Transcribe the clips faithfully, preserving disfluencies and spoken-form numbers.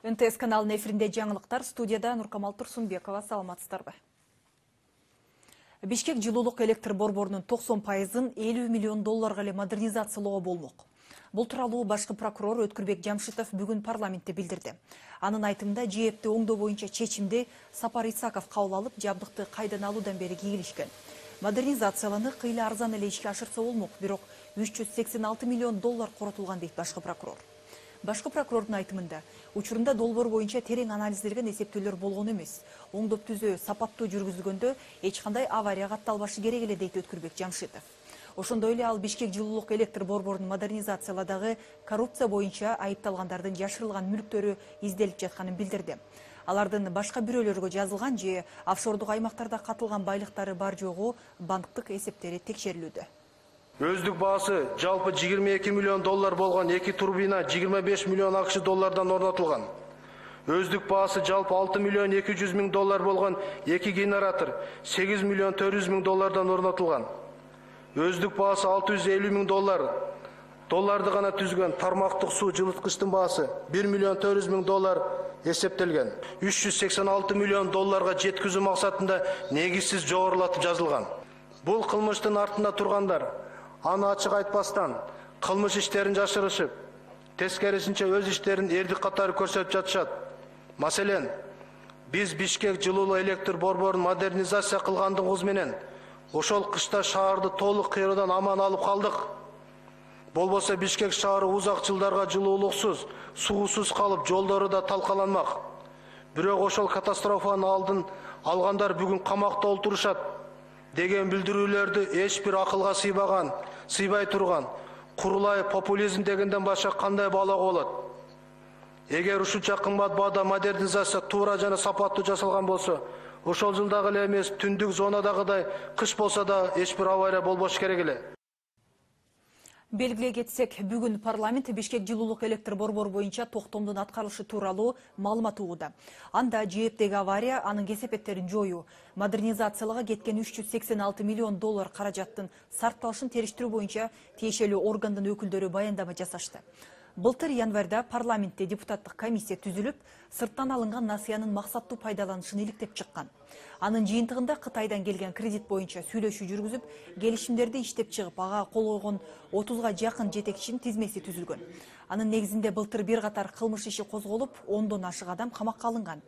эн тэ эс каналынын эфиринде жаңылыктар, студияда Нуркамал Турсунбекова. Саламатсыздарбы? Бишкек жылуулук электр борборунун токсон пайызын элүү миллион долларга эле модернизациялоо болмок. Бул тууралуу башкы прокурор Өткүрбек Жамшитов бүгүн парламентте билдирди. Анын айтымында жээпти оңдоо боюнча чечимди Сапар Исаков кабыл алып, жабдыкты кайдан алуудан бери кийилишкен. Модернизацияланы кыйла арзан эле ишке ашырса болмок, бирок үч жүз сексен алты миллион доллар коротулган дейт башкы прокурор. Башкы прокурордун айтымында, учурунда долбоор боюнча терең анализдерген эсептөөлөр болгон эмес. Оңдоп түзөө сапаттуу жүргүзүлгөндө эч кандай авария катталбашы керек эле дейт Өткүрбек Жамшитов. Ошондой эле ал Бишкек жылуулук электр борборунун модернизацияладагы коррупция боюнча айыпталгандардын жашырылган мүлктөрү изделип жатканын билдирди. Алардын башка бирөөлөргө жазылган же офшордук аймактарда катылган байлыктары бар жогу банктык эсептери текшерилүүдө. Өздүк баасы жалпы жыйырма эки миллион доллар болгон эки турбина жыйырма беш миллион акш доллардан орнотулган. Өздүк баасы жалпы алты миллион эки жүз миң доллар болгон эки генератор сегиз миллион төрт жүз миң доллардан орнотулган. Өздүк баасы алты жүз элүү миң доллар долларды гана түзгөн тармактык суу жылыткычтын баасы бир миллион төрт жүз миң доллар эсептелген. үч жүз сексен алты миллион долларга жеткизүү максатында негизсиз жогорулатып жазылган. Бул кылмыштын артында тургандар аны ачык айтпастан кылмыш иштерин жашырышып, тескерисинче өз иштерин эрдик катары көрсөтүп жатышат. Маселен, биз Бишкек жылуулук электр борборун модернизация кылгандыгыбыз менен ошол кышта шаарды толук кыйроодан аман алып калдык. Болбосо Бишкек шаары узак жылдарга жылуулуксуз, суусуз калып, жолдору да талкаланмак. Бирок ошол катастрофанын алдын алгандар бүгүн камакта олтурушат деген билдирүүлөрдү эч бир акылга сыйбаган, сыйбай турган, курулай популизм дегенден башка кандай баалоого болот? Эгер ушунча кымбат баада модернизация туура жана сапаттуу жасалган болсо, ошол жылдагы эле эмес, түндүк зонадагыдай кыш болсо да эч бир авария болбош керек эле. Белгилей кетсек, бүгүн парламент Бишкек жылуулук электр борбору боюнча токтомдун аткарылышы тууралуу маалымат угууда. Анда жээптеги авария, анын кесепеттерин жоюу, модернизациялага кеткен үч жүз сексен алты миллион доллар каражаттын сарпталышын териштирүү боюнча тиешелүү органдын өкүлдөрү баяндама жасашты. Былтыр январда парламентте депутаттык комиссия түзүлүп, сырттан алынган насыянын максаттуу пайдаланышын иликтеп чыккан. Анын жыйынтыгында Кытайдан келген кредит боюнча сүйлөшүү жүргүзүп, келишимдерди иштеп чыгып, ага кол койгон отузга жакын жетекчинин тизмеси түзүлгөн. Анын негизинде былтыр бир катар кылмыш иши козголуп, ондон ашык адам камакка алынган.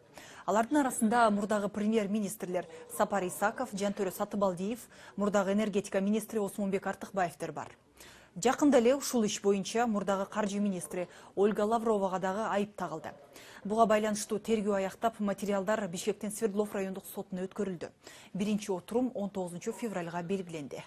Алардын арасында мурдагы премьер-министрлер Сапар Исаков, Жантөрө Сатыбалдиев, мурдагы энергетика министри Осмонбек Артыкбаевдер бар. Жакында эле ушул иш боюнча мурдагы каржы министри Ольга Лавровага дагы айып тагылды. Буга байланыштуу тергөө аяктап, материалдар Бишкектин Свердлов райондук сотуна өткөрүлдү. Биринчи отурум он тогузунчу февралга белгиленди.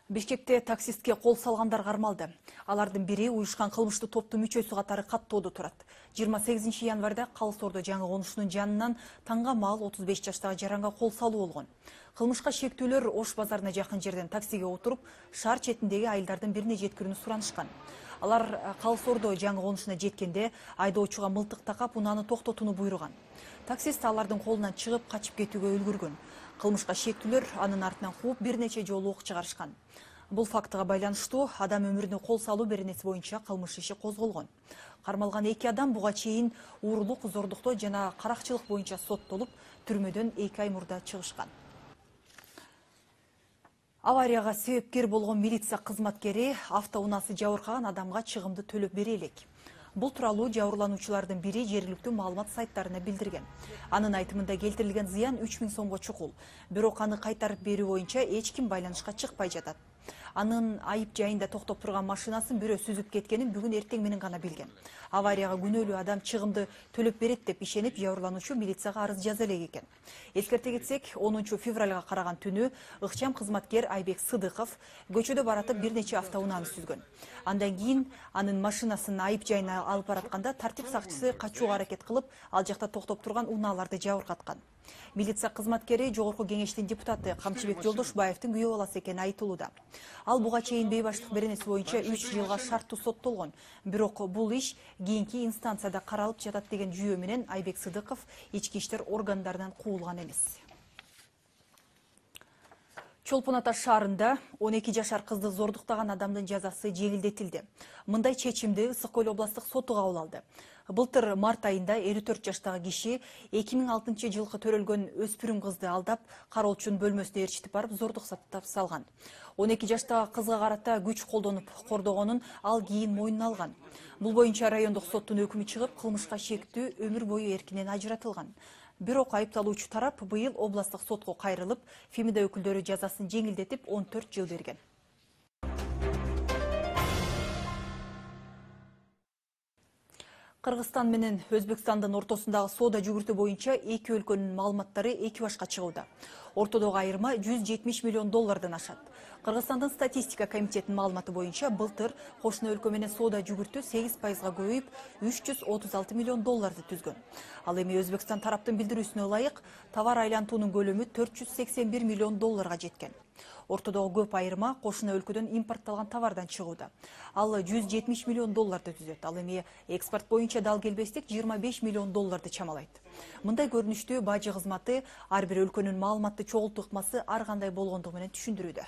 Бишкекте таксистке кол салгандар кармалды. Алардын бири уюшкан кылмыштуу топтун мүчөсү катары каттоодо турат. жыйырма сегизинчи январда Калыс-Ордо жаңы конушунун жанынан таңга маал отуз беш жаштагы жаранга кол салуу болгон. Кылмышка шектүүлөр Ош базарына жакын жерден таксиге отуруп, шаар четиндеги айылдардын бирине жеткирүүнү суранышкан. Алар Калыс-Ордо жаңы конушуна жеткенде айдоочуга мылтык такап, унааны токтотууну буйруган. Таксист алардын колунан чыгып, качып кетүүгө үлгүргөн. Кылмышка шектүүлөр анын артынан кууп бир нече жолу ок чыгарышкан. Бул фактыга байланыштуу адам өмүрүнө кол салуу беренеси боюнча кылмыш иши козголгон. Кармалган эки адам буга чейин уурулук, зордуктоо жана каракчылык боюнча соттолуп, түрмөдөн эки ай мурда чыгышкан. Аварияга себепкер болгон милиция кызматкери автоунаасы жабыркаган адамга чыгымды төлөп бере элек. Бул тууралуу жабырлануучулардын бири жергиликтүү маалымат сайттарына билдирген. Анын айтымында келтирилген зыян үч миң сомго чукул. Бирок аны кайтарып берүү боюнча эч ким байланышка чыкпай жатат. Анын айып жайында токтоп турган машинасын бирөө сүзүп кеткенин бүгүн эртең менен гана билген. Аварияга күнөөлүү адам чыгымды төлөп берет деп ишенип, жабырлануучу милицияга арыз жаза элек экен. Эскерте кетсек, онунчу февралга караган түнү ыкчам кызматкер Айбек Сыдыков көчөдө баратып бир нече автоунааны сүзгөн. Андан кийин анын машинасын айып жайына алып баратканда тартип сакчысы качууга аракет кылып, ал жакта токтоп турган унааларды жабыркаткан. Милиция кызматкери Жогорку кеңештин депутаты Камчыбек Жолдошбаевдин күйөө баласы экени айтылууда. Ал буга чейин бейбаштык беренеси боюнча үч жылга шарттуу соттолгон. Бирок бул иш кийинки инстанцияда каралып жатат деген жүйө менен Айбек Сыдыков ички иштер органдарынан куулган эмес. Чолпон Ата шаарында он эки жашар кызды зордуктаган адамдын жазасы жеңилдетилди. Мындай чечимди Ысык Көл областык соту кабыл алды. Былтыр март айында элүү төрт жаштагы киши эки миң алтынчы жылкы төрөлгөн өспүрүм кызды алдап, кароолчунун бөлмөсүнө ээрчитип барып зордук салган. он эки жаштагы кызга карата күч колдонуп кордогонун ал кийин мойнуна алган. Бул боюнча райондук соттун өкүмү чыгып, кылмышка шектүү өмүр бою эркинен ажыратылган. Бирок айыпталуучу тарап быйыл областык сотко кайрылып, Фемида өкүлдөрү жазасын жеңилдетип он төрт жыл берген. Кыргызстан менен Өзбекстандын ортосундагы соода жүгүртүү боюнча эки өлкөнүн маалыматтары эки башка чыгууда. Ортодогу айырма жүз жетимиш миллион доллардан ашат. Кыргызстандын статистика комитетинин маалыматы боюнча былтыр кошуна өлкө менен соода жүгүртүү сегиз пайызга көбөйүп, үч жүз отуз алты миллион долларды түзгөн. Ал эми Өзбекстан тараптын билдирүүсүнө ылайык, товар айлантуунун көлөмү төрт жүз сексен бир миллион долларга жеткен. Ортодогу көп айырма кошуна өлкөдөн импортталган товардан чыгууда. Ал жүз жетимиш миллион долларды түзөт. Ал эми экспорт боюнча дал келбестик жыйырма беш миллион долларды чамалайт. Мындай көрүнүштү бажы кызматы ар бир өлкөнүн маалыматты чогултуу ыкмасы ар кандай болгондугу менен түшүндүрүүдө.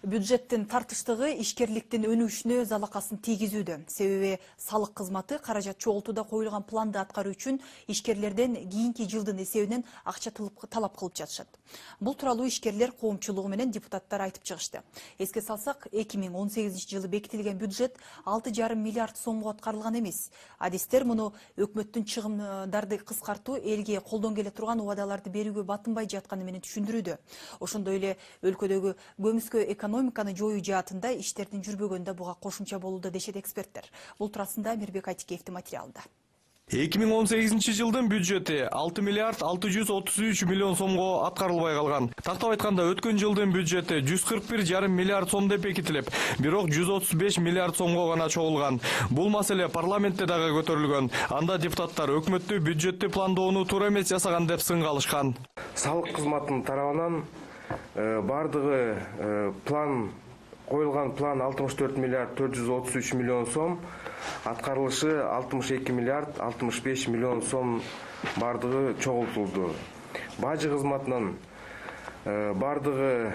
Бюджеттин тартыштыгы ишкерликтин өнүгүшүнө залакасын тийгизүүдө. Себеби салык кызматы каражат чогултууда коюлган планды аткаруу үчүн ишкерлерден кийинки жылдын эсебинен акча талап кылып жатышат. Бул тууралуу ишкерлер коомчулугу менен депутаттар айтып чыгышты. Эске салсак, эки миң он сегизинчи жылы бекитилген бюджет алты жарым миллиард сомго аткарылган эмес. Адистер муну өкмөттүн чыгымдарды кыскартуу, элге колдон келе турган убадаларды берүүгө батынбай жатканы менен түшүндүрүүдө. Ошондой эле өлкөдөгү көмүскө экономиканы жоюу жаатында иштердин жүрбөгөндө буга кошумча болууда дешет эксперттер. Бул туурасында Мирбек Айтикеевдин материалында. эки миң он сегизинчи жылдын бюджети алты миллиард алты жүз отуз үч миллион сомго аткарылбай калган. Тактап айтканда өткөн жылдын бюджети жүз кырк бир жарым миллиард сом деп бекитилип, бирок жүз отуз беш миллиард сомго гана чогулган. Бул маселе парламентте дагы көтөрүлгөн. Анда депутаттар өкмөттү бюджетти пландоону туура эмес жасаган деп сынга алышкан. Салык кызматынын тарабынан бардыгы план коюлган план алтымыш төрт миллиард төрт жүз отуз үч миллион сом, аткарылышы алтымыш эки миллиард алтымыш беш миллион сом бардыгы чогултулду. Бажы кызматынын бардыгы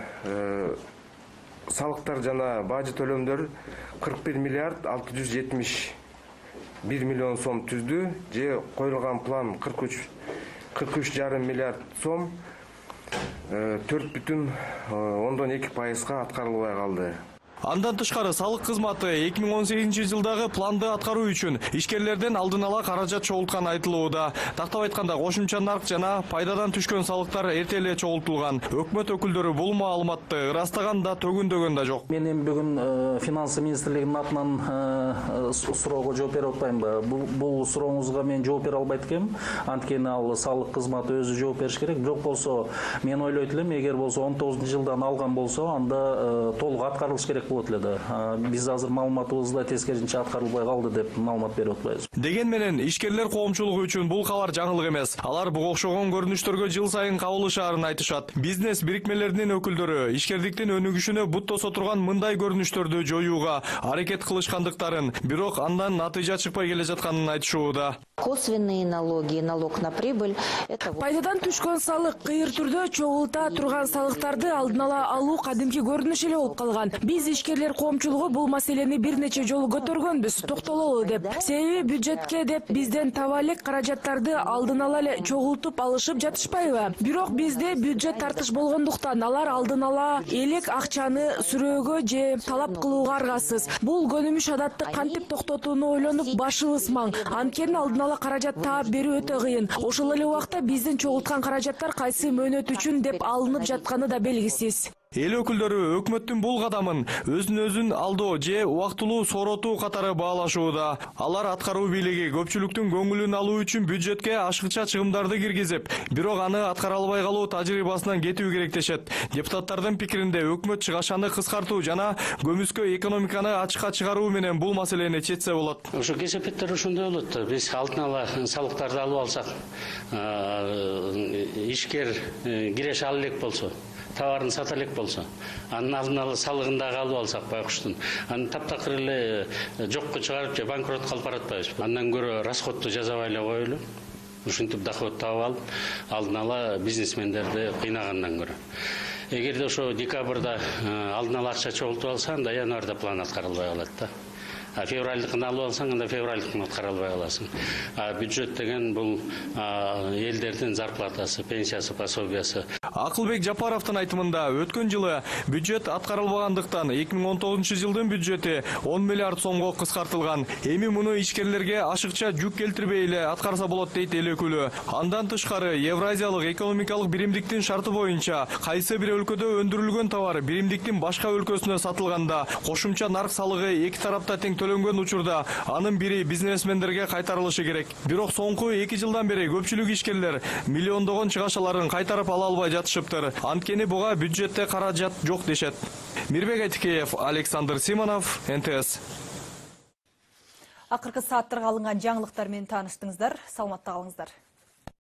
салыктар жана бажы төлөмдөр кырк бир миллиард алты жүз жетимиш бир миллион сом түздү, же коюлган план кырк үч жарым миллиард сом төрт бүтүн ондон эки пайызга аткарылбай калды. Андан тышкары салык кызматы эки миң он сегизинчи жылдагы планды аткаруу үчүн ишкерлерден алдын ала каражат чогулткан айтылууда. Тактап айтканда кошумча нарк жана пайдадан түшкөн салыктар эрте эле чогултулган. Өкмөт өкүлдөрү бул маалыматты ырастаган да төгүндөгөн да жок. Мен эми бүгүн финансы министрлигинин атынан суроого жооп берип атпаймынбы? Бул сурооңузга мен жооп бере албайт экенмин. Анткени ал салык кызматы өзү жооп бериш керек. Бирок болсо мен ойлойт элем, эгер болсо он тогузунчу жылдан алган болсо, анда толук аткарылыш керек. Биз азыр маалыматыбызда тескерисинче аткарылбай калды деп маалымат берип атпайбыз. Деген менен ишкерлер коомчулугу үчүн бул кабар жаңылык эмес. Алар буга окшогон көрүнүштөргө жыл сайын кабылышаарын айтышат. Бизнес бирикмелеринин өкүлдөрү ишкердиктин өнүгүшүнө бут тосо турган мындай көрүнүштөрдү жоюуга аракет кылышкандыктарын, бирок андан натыйжа чыкпай келе жатканын айтышууда. Косвенные налоги, налог на прибыль. Пайдадан түшкөн салык кыйыр түрдө чогулта турган салыктарды алдын ала алуу кадимки көрүнүш эле болуп калган. Биз ишкерлер коомчулугу бул маселени бир нече жолу көтөргөнбүз, токтололу деп. Себеби бюджетке деп бизден таба элек каражаттарды алдын ала эле чогултуп алышып жатышпайбы? Бирок бизде бюджет тартыш болгондуктан алар алдын ала элек акчаны сүрөөгө же талап кылууга аргасыз. Бул көнүмүш адатты кантип токтотууну ойлонуп башыбыз маң. Анткени алдын ала каражат таап берүү өтө кыйын. Ошол эле убакта биздин чогулткан каражаттар кайсы мөөнөт үчүн деп алынып жатканы да белгисиз. Эл өкүлдөрү өкмөттүн бул кадамын өзүн өзүн алдоо же убактылуу сооротуу катары баалашууда. Алар аткаруу бийлиги көпчүлүктүн көңүлүн алуу үчүн бюджетке ашыкча чыгымдарды киргизип, бирок аны аткара албай калуу тажрыйбасынан кетүү керек дешет. Депутаттардын пикиринде өкмөт чыгашаны кыскартуу жана көмүскө экономиканы ачыкка чыгаруу менен бул маселени чечсе болот. Ошо кесепеттер ошондой болот. Биз алдын ала салыктарды алып алсак, ишкер киреше ала элек болсо, товарын сата элек болсо, анын алдын ала салыгын дагы алып алсак байкуштун, аны таптакыр эле жокко чыгарып же банкротко алып баратпайбызбы? Андан көрө расходду жасабай эле коелу. ушинтип доход таап алып, алдын ала бизнесмендерди кыйнагандан көрө. Эгерде ошо декабрда алдын ала акча чогултуп алса, анда январда план аткарылбай калат да. А февральдыкын алып алсаң, анда февральдыкын аткара албай каласың. А бюджет деген бул элдердин зарплатасы, пенсиясы, пособиясы. Акылбек Жапаровдун айтымында өткөн жылы бюджет аткарылбагандыктан эки миң он тогузунчу жылдын бюджети он миллиард сомго кыскартылган. Эми муну ишкерлерге ашыкча жүк келтирбей эле аткарса болот дейт эл өкүлү. Андан тышкары Евразиялык экономикалык биримдиктин шарты боюнча кайсы бир өлкөдө өндүрүлгөн товар биримдиктин башка өлкөсүнө сатылганда кошумча нарк салыгы эки тарапта тең төлөнгөн учурда анын бири бизнесмендерге кайтарылышы керек. Бирок соңку эки жылдан бери көпчүлүк ишкерлер миллиондогон чыгашаларын кайтарып ала албай жатышыптыр. Анткени буга бюджетте каражат жок дешет. Мирбек Айтикеев, Александр Симонов, эн тэ эс. Акыркы сааттарга алынган жаңылыктар менен тааныштыңыздар. Саламатта калыңыздар.